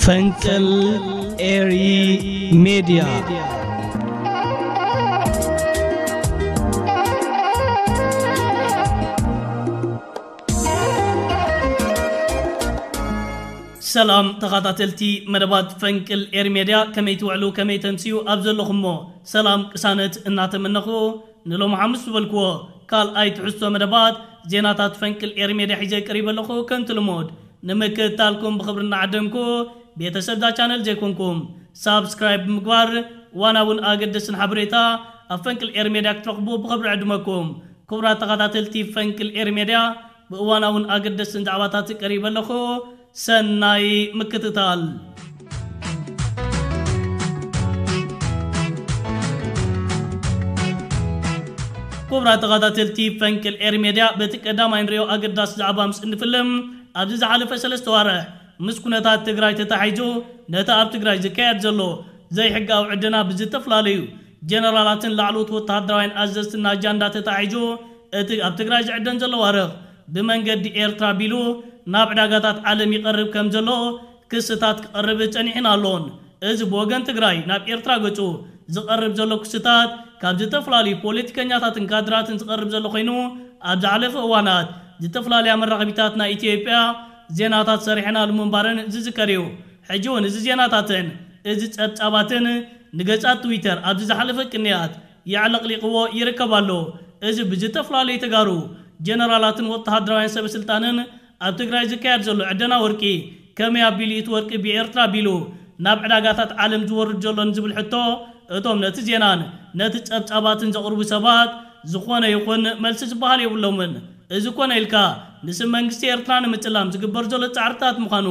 ፈንቅል ኤሪ ሜድያ። ሰላም ተኸታተልቲ መደባት ፈንቅል ኤሪ ሜድያ፣ ከመይ ትውዕሉ፣ ከመይ ተምስዩ? ኣብ ዘለኹሞ ሰላም ቅሳነት እናተመነኹ፣ ንሎሚ ሓሙስ ዝበልክዎ ካልኣይ ትሕዝቶ መደባት ዜናታት ፈንቅል ኤሪ ሜድያ ሒዘ ቀሪበ ኣለኹ። ከምቲ ልሙድ ንምክትታልኩም ብኽብሪ እናዓደምኩ፣ ቤተሰብ እዛ ቻነል ዘይኮንኩም ሳብስክራይብ ብምግባር ዋናውን ኣገደስን ሓበሬታ ኣብ ፈንቅል ኤሪ ሜድያ ክትረኽቡ ብኽብሪ ዕድመኩም። ክቡራት ተኸታተልቲ ፈንቅል ኤሪ ሜድያ፣ ብእዋናውን ኣገደስን ዛዕባታት ቀሪበ ኣለኹ። ሰናይ ምክትታል። ክቡራት ተኸታተልቲ ፈንቅል ኤሪ ሜድያ፣ በቲ ቀዳማይ ንሪኦ ኣገዳሲ ዛዕባ ምስ እንፍልም፣ ኣብዚ ዝሓለፈ ሰለስተ ዋርሕ ምስ ኩነታት ትግራይ ተታሒዙ፣ ነቲ ኣብ ትግራይ ዝካየድ ዘሎ ዘይሕጋዊ ዕደና ብዝተፈላለዩ ጀነራላትን ላዕለዎት ወተሃደራውያን ኣዘዝትን ኣጃንዳ ተታሒዙ፣ እቲ ኣብ ትግራይ ዝዕደን ዘሎ ዋርቕ ብመንገዲ ኤርትራ ኣቢሉ ናብ ዕዳጋታት ዓለም ይቐርብ ከም ዘሎ ክስታት ክቐርብ ጸኒሑን ኣሎን። እዚ ብወገን ትግራይ ናብ ኤርትራ ገጹ ዝቐርብ ዘሎ ክስታት ካብ ዝተፈላለዩ ፖለቲከኛታትን ካድራትን ዝቐርብ ዘሎ ኮይኑ፣ ኣብ ዝሓለፈ እዋናት ዝተፈላለያ መራኸቢታት ናይ ኢትዮጵያ ዜናታት ሰሪሐናሉ ምንባረን ዝዝከር እዩ። ሕጂ እውን እዚ ዜናታትን እዚ ጸብጻባትን ንገጻት ትዊተር ኣብዚ ዝሓለፈ ቅንያት የዕለቕሊቕዎ ይርከብ ኣሎ። እዚ ብዝተፈላለዩ ተጋሩ ጀነራላትን ወተሃደራውያን ሰበ ስልጣንን ኣብ ትግራይ ዝካየድ ዘሎ ዕደና ወርቂ፣ ከመይ ኣቢሉ እቲ ወርቂ ብኤርትራ ኣቢሉ ናብ ዕዳጋታት ዓለም ዝወርድ ዘሎ ንዝብል ሕቶ፣ እቶም ነቲ ዜናን ነቲ ጸብጻባትን ዘቕርቡ ሰባት ዝኾነ ይኹን መልሲ ዝበሃል የብሎምን። እዚ ኮነ ኢልካ ንስም መንግስቲ ኤርትራ ንምጽላም ዝግበር ዘሎ ጻዕርታት ምዃኑ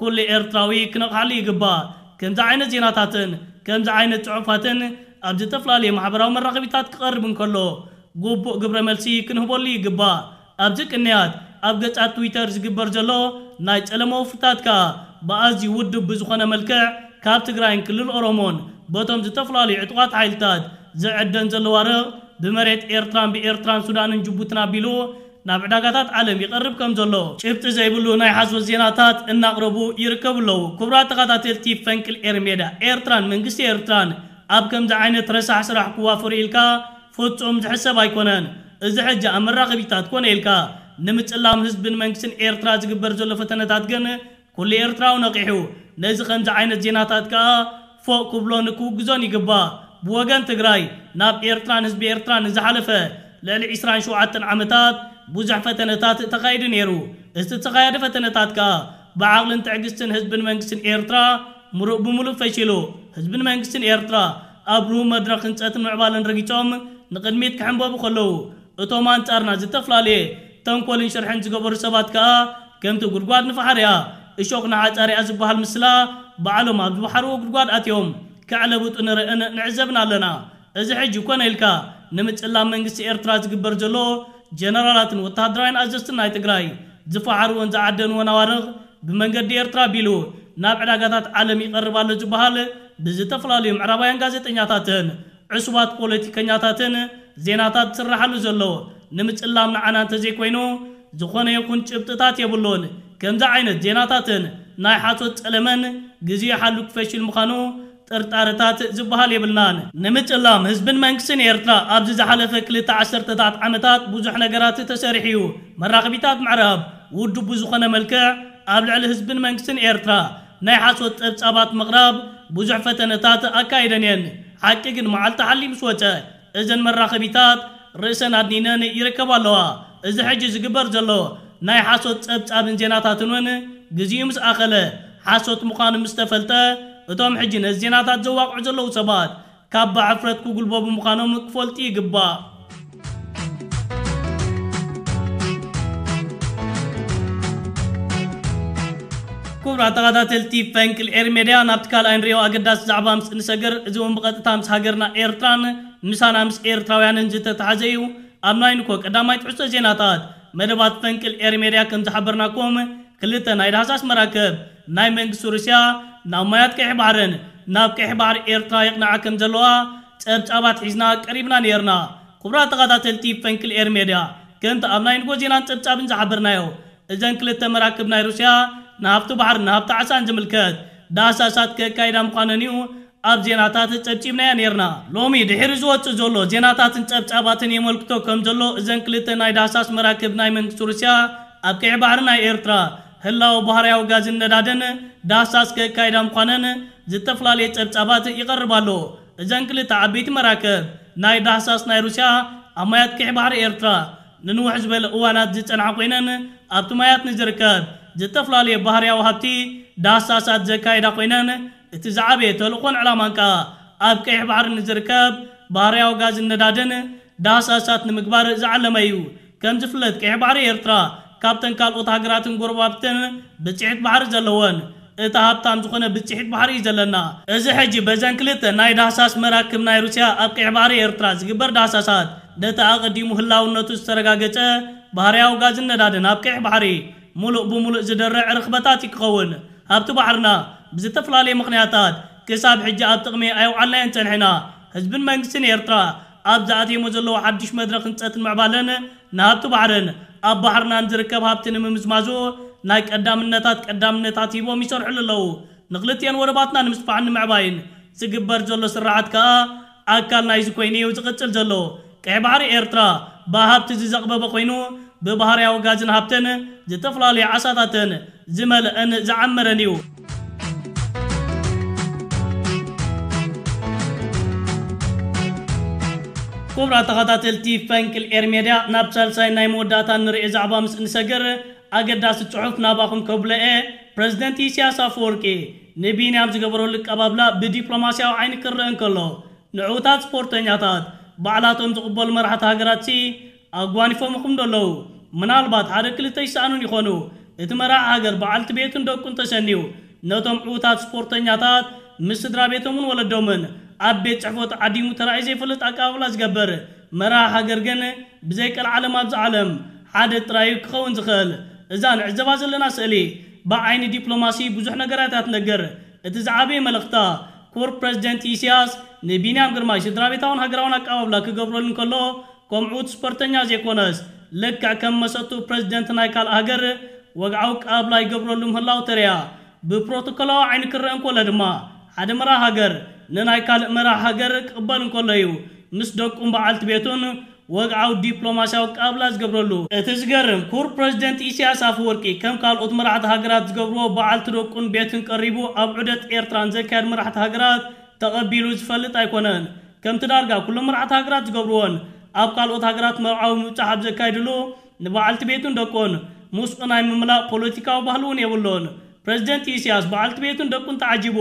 ኩሉ ኤርትራዊ ክነቕሓሉ ይግባእ። ከምዚ ዓይነት ዜናታትን ከምዚ ዓይነት ጽሑፋትን ኣብ ዝተፈላለዩ ማሕበራዊ መራኸቢታት ክቐርብ እንከሎ፣ ግቡእ ግብረ መልሲ ክንህበሉ ይግባእ። ኣብዚ ቅንያት ኣብ ገጻት ትዊተር ዝግበር ዘሎ ናይ ጸለመ ወፍርታት ከኣ ብኣዝዩ ውዱብ ብዝኾነ መልክዕ ካብ ትግራይን ክልል ኦሮሞን በቶም ዝተፈላለዩ ዕጡቓት ሓይልታት ዝዕደን ዘሎ ዋርቕ ብመሬት ኤርትራን ብኤርትራን ሱዳንን ጅቡትን ኣቢሉ ናብ ዕዳጋታት ዓለም ይቐርብ ከም ዘሎ ጭብጢ ዘይብሉ ናይ ሓሶት ዜናታት እናቕረቡ ይርከቡ ኣለዉ። ክቡራት ተኸታተልቲ ፈንቅል ኤሪ ሜድያ፣ ኤርትራን መንግስቲ ኤርትራን ኣብ ከምዚ ዓይነት ረሳሕ ስራሕ ክዋፈሩ ኢልካ ፍጹም ዝሕሰብ ኣይኮነን። እዚ ሕጂ ኣብ መራኸቢታት ኮነ ኢልካ ንምጽላም ህዝብን መንግስትን ኤርትራ ዝግበር ዘሎ ፈተነታት ግን ኩሉ ኤርትራዊ ነቒሑ ነዚ ከምዚ ዓይነት ዜናታት ከኣ ፎእ ክብሎን ክውግዞን ይግባእ። ብወገን ትግራይ ናብ ኤርትራን ህዝቢ ኤርትራን ንዝሓለፈ ልዕሊ ዕስራን ሸውዓተን ዓመታት ብዙሕ ፈተነታት ተኻይዱ ነይሩ። እቲ ዝተኻየደ ፈተነታት ከኣ ብዓቕልን ትዕግስትን ህዝብን መንግስትን ኤርትራ ምሉእ ብምሉእ ፈሺሉ። ህዝብን መንግስትን ኤርትራ ኣብ ርሁብ መድረኽ ህንጸትን ምዕባለን ረጊጾም ንቕድሚት ክሕንበቡ ከለዉ፣ እቶም ኣንጻርና ዝተፈላለየ ተንኮልን ሽርሕን ዝገበሩ ሰባት ከኣ ከምቲ ጉድጓድ ንፋሕርያ እሾኽ ንሓጻርያ ዝበሃል ምስላ ባዕሎም ኣብ ዝወሓርዎ ጉድጓድ ኣትዮም ክዕለብጡ ንርእን ንዕዘብን ኣለና። እዚ ሕጂ ኮነ ኢልካ ንምጽላም መንግስቲ ኤርትራ ዝግበር ዘሎ ጀነራላትን ወተሃደራውያን ኣዘዝትን ናይ ትግራይ ዝፈሓርዎን ዝዓደንዎን ኣዋርቕ ብመንገዲ ኤርትራ ኣቢሉ ናብ ዕዳጋታት ዓለም ይቐርብ ኣሎ ዝበሃል ብዝተፈላለዩ ምዕራባውያን ጋዜጠኛታትን ዕሱባት ፖለቲከኛታትን ዜናታት ዝስራሓሉ ዘሎ ንምጽላም ንዓና እንተዘይኮይኑ ዝኾነ ይኹን ጭብጥታት የብሉን። ከምዚ ዓይነት ዜናታትን ናይ ሓሶት ጸለመን ግዜኡ ሓሉ ክፈሽል ምዃኑ ጥርጣረታት ዝበሃል የብልናን። ንምጽላም ህዝብን መንግስትን ኤርትራ ኣብዚ ዝሓለፈ ክልተ ዓሰርተታት ዓመታት ብዙሕ ነገራት ተሰሪሑ እዩ። መራኸቢታት ምዕራብ ውዱብ ብዝኾነ መልክዕ ኣብ ልዕሊ ህዝብን መንግስትን ኤርትራ ናይ ሓሶት ጸብጻባት ምቕራብ ብዙሕ ፈተነታት ኣካይደን እየን። ሓቂ ግን መዓልቲ ሓልዩ ምስ ወጸ እዘን መራኸቢታት ርእሰን ኣድኒነን ይርከባ ኣለዋ። እዚ ሕጂ ዝግበር ዘሎ ናይ ሓሶት ጸብጻብን ዜናታትን እውን ግዜኡ ምስ ኣኸለ ሓሶት ምዃኑ ምስ ተፈልጠ እቶም ሕጂ ነዚ ዜናታት ዘዋቕዑ ዘለዉ ሰባት ካብ ብሕፍረት ክጉልበቡ ምዃኖም ክፈልጡ ይግባእ። ክቡራት ተኸታተልቲ ፈንቅል ኤሪ ሜድያ፣ ናብቲ ካልኣይ ንሪኦ ኣገዳሲ ዛዕባ ምስ እንሰግር፣ እዚ እውን ብቐጥታ ምስ ሃገርና ኤርትራን ምሳና ምስ ኤርትራውያንን ዝተተሓዘ እዩ። ኣብ ናይ ንኮ ቀዳማይ ትሕዝቶ ዜናታት መደባት ፈንቅል ኤሪ ሜድያ ከም ዝሓበርናኩም፣ ክልተ ናይ ዳህሳስ መራክብ ናይ መንግስቲ ሩስያ ናብ ማያት ቀይሕ ባሕርን ናብ ቀይሕ ባሕሪ ኤርትራ የቕንዓ ከም ዘለዋ ጸብጻባት ሒዝና ቀሪብና ነይርና። ክቡራት ተኸታተልቲ ፈንቅል ኤሪ ሜድያ፣ ከምቲ ኣብ ናይ ንጎ ዜናን ጸብጻብን ዝሓበርናዮ፣ እዘን ክልተ መራክብ ናይ ሩስያ ንሃብቲ ባሕርን ንሃብቲ ዓሳን ዝምልከት ዳህሳሳት ከካይዳ ምዃነን እዩ ኣብ ዜናታት ጸብጺብናዮ ነይርና። ሎሚ ድሕሪ ዝወጽእ ዘሎ ዜናታትን ጸብጻባትን የመልክቶ ከም ዘሎ፣ እዘን ክልተ ናይ ዳህሳስ መራክብ ናይ መንግስቲ ሩስያ ኣብ ቀይሕ ባሕሪ ናይ ኤርትራ ህላወ ባህርያዊ ጋዝን ነዳድን ዳህሳስ ከካይዳ ምዃነን ዝተፈላለየ ጸብጻባት ይቐርብ ኣሎ። እዘን ክልተ ዓበይቲ መራክብ ናይ ዳህሳስ ናይ ሩስያ ኣብ ማያት ቀይሕ ባሕሪ ኤርትራ ንንውሕ ዝበለ እዋናት ዝጸንሓ ኮይነን፣ ኣብቲ ማያት ንዝርከብ ዝተፈላለየ ባህርያዊ ሃብቲ ዳህሳሳት ዘካየዳ ኮይነን፣ እቲ ዝዓበየ ተልእኾን ዕላማን ከኣ ኣብ ቀይሕ ባሕሪ ንዝርከብ ባህርያዊ ጋዝን ነዳድን ዳህሳሳት ንምግባር ዝዓለመ እዩ። ከም ዝፍለጥ፣ ቀይሕ ባሕሪ ኤርትራ ካብተን ካልኦት ሃገራትን ጎረባብትን ብጽሒት ባሕሪ ዘለወን እታ ሃብታም ዝኾነ ብጽሒት ባሕሪ እዩ ዘለና። እዚ ሕጂ በዘን ክልተ ናይ ዳህሳስ መራክብ ናይ ሩስያ ኣብ ቀይሕ ባሕሪ ኤርትራ ዝግበር ዳህሳሳት፣ ነቲ ኣቐዲሙ ህላውነቱ ዝተረጋገጸ ባህርያዊ ጋዝን ነዳድን ኣብ ቀይሕ ባሕሪ ሙሉእ ብሙሉእ ዝደርዕ ርኽበታት እዩ ክኸውን። ሃብቲ ባሕርና ብዝተፈላለየ ምኽንያታት ክሳብ ሕጂ ኣብ ጥቕሚ ኣየውዓልናዮን ጸኒሕና። ህዝብን መንግስትን ኤርትራ ኣብ ዝኣትየሞ ዘለዉ ሓድሽ መድረኽ ህንጸትን ምዕባለን ንሃብቲ ባሕርን ኣብ ባሕርናን ዝርከብ ሃብቲ ንምምዝማዙ ናይ ቀዳምነታት ቀዳምነታት ሂቦም ይሰርሕሉ ኣለዉ። ንክልቲኤን ወደባትና ንምስፋሕን ንምዕባይን ዝግበር ዘሎ ስርሓት ከኣ ኣካል ናይዚ ኮይኑ እዩ ዝቕጽል ዘሎ። ቀይሕ ባሕሪ ኤርትራ ብሃብቲ ዝዘቕበበ ኮይኑ፣ ብባህርያዊ ጋዝን ሃብትን ዝተፈላለዩ ዓሳታትን ዝመልአን ዝዓመረን እዩ። ክቡራት ተኸታተልቲ ፈንቅል ኤር ሜድያ፣ ናብ ሳልሳይ ናይ መወዳእታ ንርእዮ ዛዕባ ምስ እንሰግር፣ ኣገዳሲ ጽሑፍ ናባኹም ከብሎ እየ። ፕረዚደንት ኢሳያስ ኣፈወርቂ ንቢንያም ዝገበረሉ ኣቀባብላ ብዲፕሎማስያዊ ዓይኒ ክረአ እንከሎ፣ ንዕዉታት ስፖርተኛታት ባዕላቶም ዝቕበሉ መራሕቲ ሃገራትሲ ኣጓኒፎምኹም ዶ ኣለዉ? ምናልባት ሓደ ክልተ ይሰኣኑን ይኾኑ። እቲ መራሒ ሃገር በዓልቲ ቤቱን ደቁን ተሰንዩ ነቶም ዕዉታት ስፖርተኛታት ምስ ስድራ ቤቶምን ወለዶምን ኣብ ቤት ጽሕፈቱ ዓዲሙ ተራእዩ ዘይፈልጥ ኣቀባብላ ዝገብር መራሒ ሃገር ግን ብዘይ ቀልዓለም ኣብዚ ዓለም ሓደ ጥራይ እዩ ክኸውን ዝኽእል። እዛ ንዕዘባ ዘለና ስእሊ ብዓይኒ ዲፕሎማሲ ብዙሕ ነገራት እያ ትነግር። እቲ ዝዓበየ መልእኽታ፣ ክቡር ፕረዚደንት ኢሳያስ ንቢንያም ግርማይ ስድራ ቤታውን ሃገራውን ኣቀባብላ ክገብረሉ እንከሎ፣ ከም ዕዉት ስፖርተኛ ዘይኮነስ፣ ልክዕ ከም መሰቱ ፕረዚደንት ናይ ካልእ ሃገር ወግዓዊ ኣቀባብላ ይገብረሉ ምህላው ተርእያ። ብፕሮቶኮላዊ ዓይኒ ክረአ እንከሎ ድማ፣ ሓደ መራሒ ሃገር ንናይ ካልእ መራሒ ሃገር ክቕበል እንከሎ እዩ ምስ ደቁን በዓልቲ ቤቱን ወግዓዊ ዲፕሎማስያዊ ኣቀባብላ ዝገብረሉ። እቲ ዝገርም፣ ክቡር ፕረዚደንት ኢሳያስ ኣፈወርቂ ከም ካልኦት መራሕቲ ሃገራት ዝገብርዎ በዓልቲ ደቁን ቤትን ቀሪቡ ኣብ ዑደት ኤርትራ ንዘካየድ መራሕቲ ሃገራት ተቐቢሉ ዝፈልጥ ኣይኮነን። ከምቲ ዳርጋ ኩሎም መራሕቲ ሃገራት ዝገብርዎን፣ ኣብ ካልኦት ሃገራት መርዓዊ ምብጻሕ ኣብ ዘካይድሉ ንበዓልቲ ቤቱን ደቁን ምስኡ ናይ ምምላእ ፖለቲካዊ ባህሊ እውን የብሉን። ፕረዚደንት ኢሳያስ በዓልቲ ቤቱን ደቁን ተዓጂቡ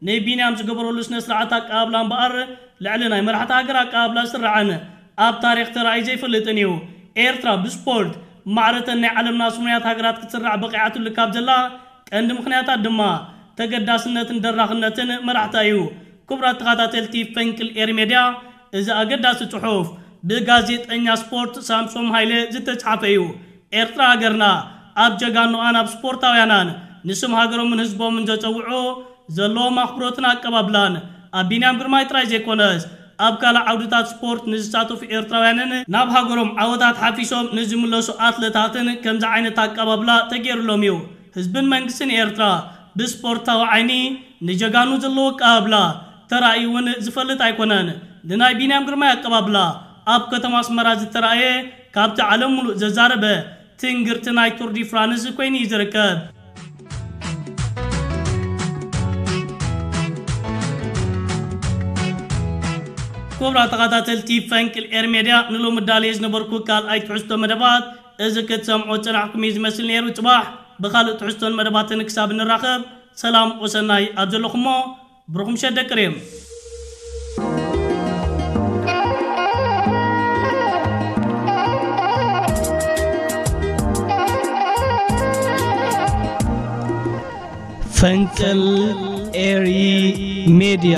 ንቢንያም ዝገበረሉ ስነ ስርዓት ኣቀባብላ እምበኣር፣ ልዕሊ ናይ መራሕቲ ሃገር ኣቀባብላ ዝስራዕን ኣብ ታሪኽ ተራእዩ ዘይፈልጥን እዩ። ኤርትራ ብስፖርት ማዕረተን ናይ ዓለምና ስሙያት ሃገራት ክትስራዕ በቒዓትሉ ካብ ዘላ ቀንዲ ምኽንያታት ድማ ተገዳስነትን ደራኽነትን መራሕታ እዩ። ክቡራት ተኸታተልቲ ፈንቅል ኤር ሜድያ፣ እዚ ኣገዳሲ ጽሑፍ ብጋዜጠኛ ስፖርት ሳምሶም ሃይለ ዝተጻሕፈ እዩ። ኤርትራ ሃገርና ኣብ ጀጋኑኣን ኣብ ስፖርታውያናን ንስም ሃገሮምን ህዝቦምን ዘጸውዑ ዘለዎም ኣኽብሮትን ኣቀባብላን ኣብ ቢንያም ግርማይ ጥራይ ዘይኮነስ፣ ኣብ ካልእ ዓውድታት ስፖርት ንዝሳተፉ ኤርትራውያንን ናብ ሃገሮም ዓወታት ሓፊሶም ንዝምለሱ ኣትለታትን ከምዚ ዓይነት ኣቀባብላ ተገይሩሎም እዩ። ህዝብን መንግስትን ኤርትራ ብስፖርታዊ ዓይኒ ንጀጋኑ ዘለዎ ኣቀባብላ ተራእዩ እውን ዝፈልጥ ኣይኮነን። ንናይ ቢንያም ግርማይ ኣቀባብላ ኣብ ከተማ ኣስመራ ዝተራእየ፣ ካብቲ ዓለም ሙሉእ ዘዛረበ ትንግርቲ ናይ ቱር ዲ ፍራንስ ኮይኑ እዩ ዝርከብ። ክቡራት ተኸታተልቲ ፈንቅል ኤር ሜድያ፣ ንሎሚ ዳልየ ዝነበርኩ ካልኣይ ትሕዝቶ መደባት እዚ ክትሰምዖ ዝጸናሕኩም እዩ ዝመስል ነይሩ። ጽባሕ ብኻልእ ትሕዝቶን መደባትን ክሳብ ንራኸብ፣ ሰላም ወሰናይ ኣብ ዘለኹሞ፣ ብሩኽ ምሸት ደቂ ሪም። ፈንቅል ኤሪ ሜድያ።